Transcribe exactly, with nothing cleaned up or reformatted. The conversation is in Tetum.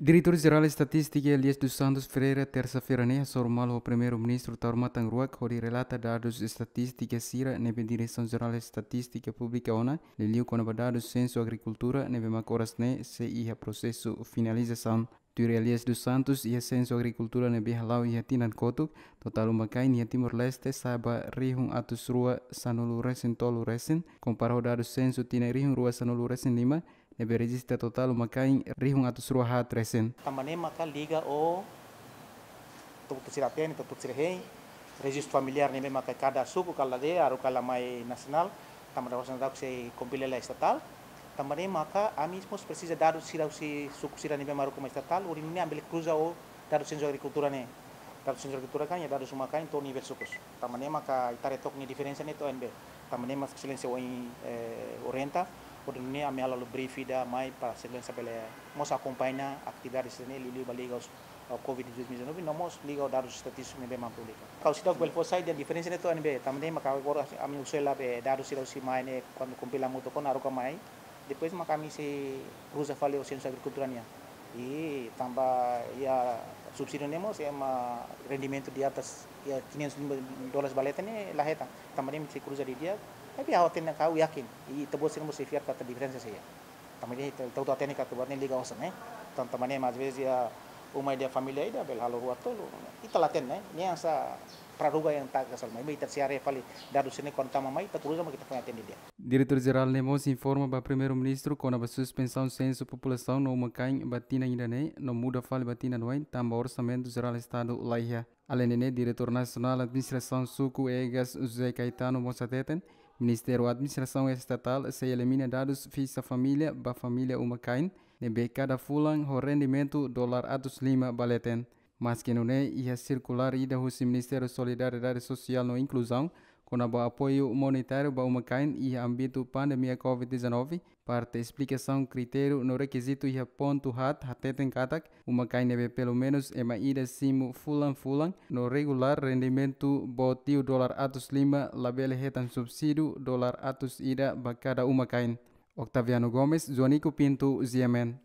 Diretór Jerál Estatístika Elias dos Santos Ferreira tersa-feira ne'e hasoru malu ho Primeiru-Ministru Taur Matan Ruak hodi relata dadus estatístika sira ne'ebé Diresaun Jerál Estatístika publika ona, liuliu kona-ba dadus sensu agrikultura ne'ebé mak oras ne'e sei iha prosesu finalizasaun. Tuir Elias dos Santos, iha sensu agrikultura ne'ebé hala'o iha tinan kotuk, totál uma-kain iha Timor-Leste sa'e ba rihun atus rua sanulu resin tolu resin, kompara ho dadus sensu tinan rihun rua sanulu resin lima, ne'ebé rejista totál uma-kain rihun atus rua haat resin. Tanba ne'e maka liga ho tuku sira tene, tuku sira hein, rejistu familiár ne'ebé maka kada suku, kada aldeia, haruka la mai nasionál, tanba ne'e oras ne'e daudauk sei kompila lai estatál. Tanba ne'e maka ami mós presiza dadus sira husi suku sira ne'ebé mak haruka mai estatál, hodi nune'e ami bele kruza ho dadus sensu agrikultura ne'e. Dadus sensu agrikultura kan iha dadus uma-kain to'o nivel sukus. Tanba ne'e maka ita haree took nia diferensa ne'e to'o ne'ebé. Tanba ne'e mak Exelénsia ohin, eh, orienta, hodi nune'e ami halo briefing ida mai para Exelénsia bele mós akompaña atividade sira ne'e liuliu ba liga ho, ho covid dua ribu dua puluh nove, no mós liga ho dadus estatístiku ne'ebé mak publika. Kau sida bele fó sai dehan diferensa ne'e to'o ne'ebé, tanba ne'e maka agora ami uza hela be dadus sira husi mai ne'e kuandu kompila hamutuk ona haruka mai, depois maka ami sei kruza fali ho sensu agrikultura nian. I tanba iha subsídiu ne'e mós ema rendimentu di atas iha quinhentos mil dólares ba leten ne'e la hetan. Tanba ne'e ami sei kruza didi'ak, tapi ha'u hatene katak ha'u yakin. I ita-boot sira mós sei fiar katak diferensa sei iha. Tanba ne'e ita, ita hotu hatene katak buat ne'e liga osan ne'e. Tan, tanba ne'e às vezes iha uma ida família ida bele halo rua tolu. Ita la hatene, ne'e hanesan praduga yang tak asal mai. Ita sei haree fali dadus sira ne'e kuandu tama mai, ita kruza mak ita foin hatene didi'ak. Diretór Jerál ne'e mós informa ba Primeiru-Ministru kona-ba suspensaun sensu populasaun no uma-kain ba tinan ida-ne'e, no muda fali ba tinan oin, tanba Orsamentu Jerál Estadu la iha. Aleinde ne'e, Diretór Nasionál Administrasaun Suku Egas José Caetano mós hateten, Ministériu Administrasaun Estatál sei elimina dadus fixa família ba família uma-kain, ne'ebé kada fulan ho rendimentu dolar atus lima ba leten. Maski nune'e, iha sirkulár ida husi Ministériu Solidariedade Sosiál no Inkluzaun, kona-ba apoiu monetáriu ba uma-kain iha ámbitu pandemia covid dezanove, parte esplikasaun kritériu no rekizitu iha pontu haat hateten katak, uma-kain ne'ebé pelumenus ema ida simu fulan-fulan no regulár rendimentu boot liu dolar atus lima labele hetan subsídiu dolar atus ida ba kada uma-kain. Octaviano Gomes, Joanico Pinto, G M N.